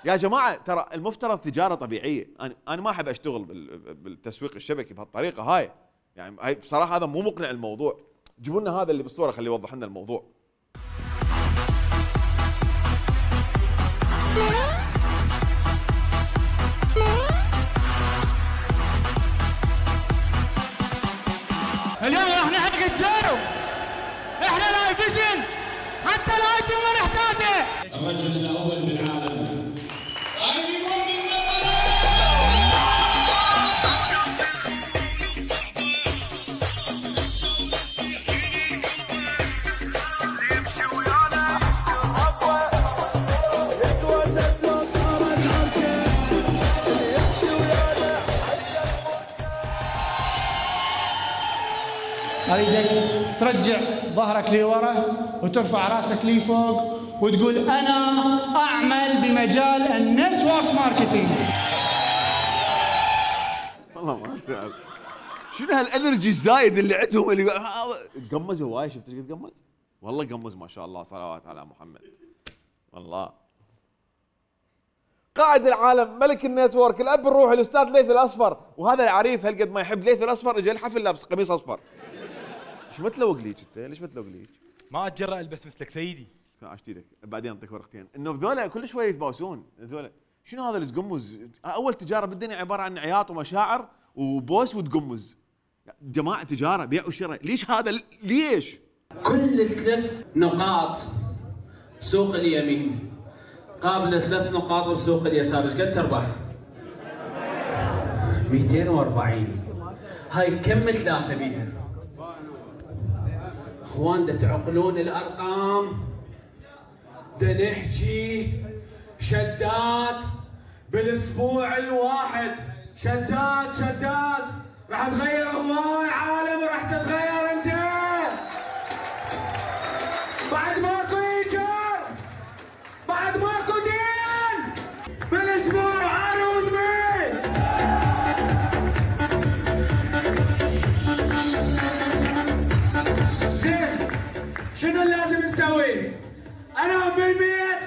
يا جماعه ترى المفترض تجاره طبيعيه، انا ما احب اشتغل بالتسويق الشبكي بهالطريقه هاي، يعني هاي بصراحه هذا مو مقنع الموضوع. جيبوا لنا هذا اللي بالصوره خليه يوضح لنا الموضوع. اليوم راح نحقق الجو، احنا لايفزن حتى الايتم ما نحتاجه. الرجل الاول بالعالم اريدك ترجع ظهرك لورا وترفع راسك لي فوق وتقول انا اعمل بمجال النتورك ماركتينج. والله ما ادري شنو هالانرجي الزايد اللي عندهم، اللي تقمز هواي. شفت ايش قد قمز؟ والله قمز ما شاء الله، صلوات على محمد. والله قائد العالم، ملك النتورك، الاب الروحي، الاستاذ ليث الاصفر. وهذا العريف هالقد ما يحب ليث الاصفر اجى الحفل لابس قميص اصفر. ايش ما تلوق ليك انت؟ ليش ما تلوق ليك؟ ما اتجرأ البس مثلك سيدي. عشت ايدك بعدين اعطيك ورقتين. انه ذولا كل شوي يتباوسون ذولا. شنو هذا اللي تقمز؟ اول تجاره بالدنيا عباره عن عياط ومشاعر وبوس وتقمز. جماعه تجاره بيع وشراء، ليش هذا؟ ليش؟ كل 3 نقاط بسوق اليمين قابل 3 نقاط بسوق اليسار، ايش قد تربح؟ 240. هاي كم تلافى بيها؟ اخوان دا تعقلون الارقام، دا نحكي شدات بالاسبوع الواحد، شدات راح تغير هواي عالم وراح تتغير انت. بعد ماكو ايجار، بعد ماكو دين، بالاسبوع عروض مين. زين شنو لازم نسوي؟ انا بالبيت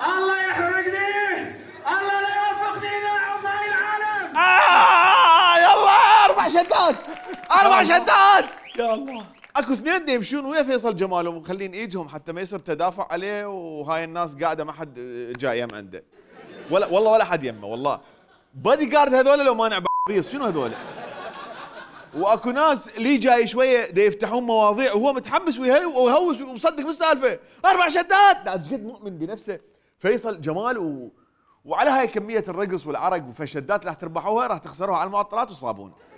الله يحرقني، الله لا يوفقني اذا اعوف هاي العالم. يلا 4 شدات 4 شدات يا الله. اكو 2 يمشون ويا فيصل جمال ومخلين ايدهم حتى ما يصير تدافع عليه، وهاي الناس قاعده ما حد جاي يم عنده، والله ولا حد يمه. والله بادي جارد هذول لو مانع بيص شنو هذول. واكو ناس لي جاي شويه دا يفتحون مواضيع وهو متحمس ويهوس ومصدق بالسالفه. 4 شدات. ايش قد مؤمن بنفسه فيصل جمال وعلى هاي كميه الرقص والعرق، فالشدات اللي راح تربحوها راح تخسروها على المعطرات والصابون.